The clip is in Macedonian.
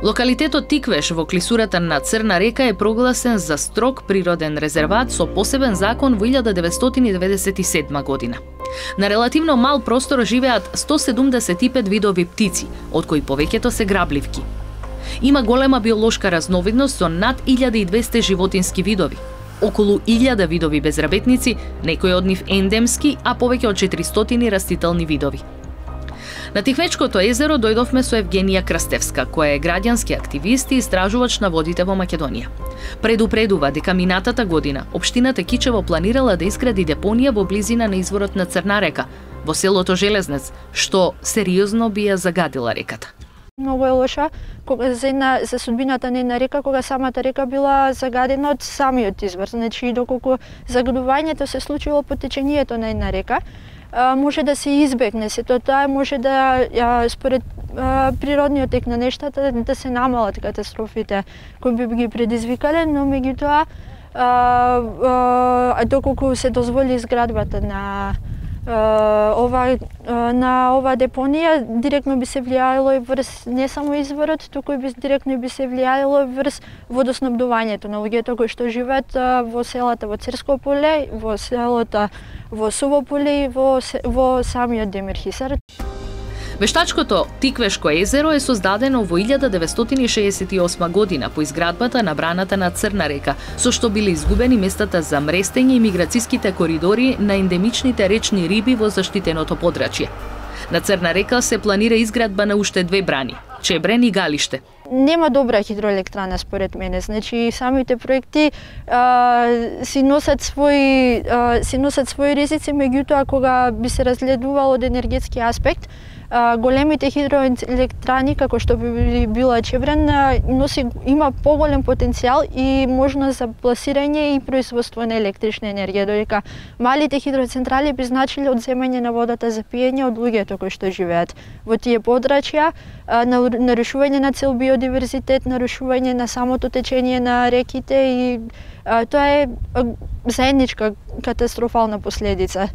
Локалитетот Тиквеш во клисурата на Црна река е прогласен за строг природен резерват со посебен закон во 1997 година. На релативно мал простор живеат 175 видови птици, од кои повеќето се грабливки. Има голема биолошка разновидност со над 1200 животински видови, околу 1000 видови безработници, некои од нив ендемски, а повеќе од 400 растителни видови. На Тиквечкото езеро дојдовме со Евгенија Крстевска, која е граѓански активист и истражувач на водите во Македонија. Предупредува дека минатата година општината Кичево планирала да изгради депонија во близина на изворот на Црна река, во селото Железнец, што сериозно би ја загадила реката. Многу е лоша за судбината на една река, кога самата река била загадена од самиот извор. Значи, доколку загадувањето се случило по течењето на една река, може да се избегне сето тоа, може да според природниот тек на нештата да се намалат катастрофите кои би ги предизвикале, но меѓутоа доколку се дозволи изградбата на ова депонија, директно би се влијаело и врз не само изворот, туку и директно би се влијаело врз водоснабдувањето на луѓето кои што живеат во селата во Црско поле, во селото во Суво поле и во самиот Демир Хисар. Вештачкото Тиквешко езеро е создадено во 1968 година по изградбата на браната на Црна река, со што биле изгубени местата за мрестење и миграцијските коридори на ендемичните речни риби во заштитеното подрачје. На Црна река се планира изградба на уште 2 брани – Чебрен и Галиште. Нема добра хидроелектрана според мене, значи самите проекти си носат своји ризици, меѓутоа кога би се разгледувало од енергетски аспект, големите хидроелектрани, како што би била Чебрен, има поголем потенцијал и можност за пласирање и производство на електрична енергија, додека малите хидроцентрали би значиле одземање на водата за пиење од луѓето кои што живеат во тие подрачја, нарушување на цел биодиверзитет, нарушување на самото течење на реките и тоа е заедничка катастрофална последица.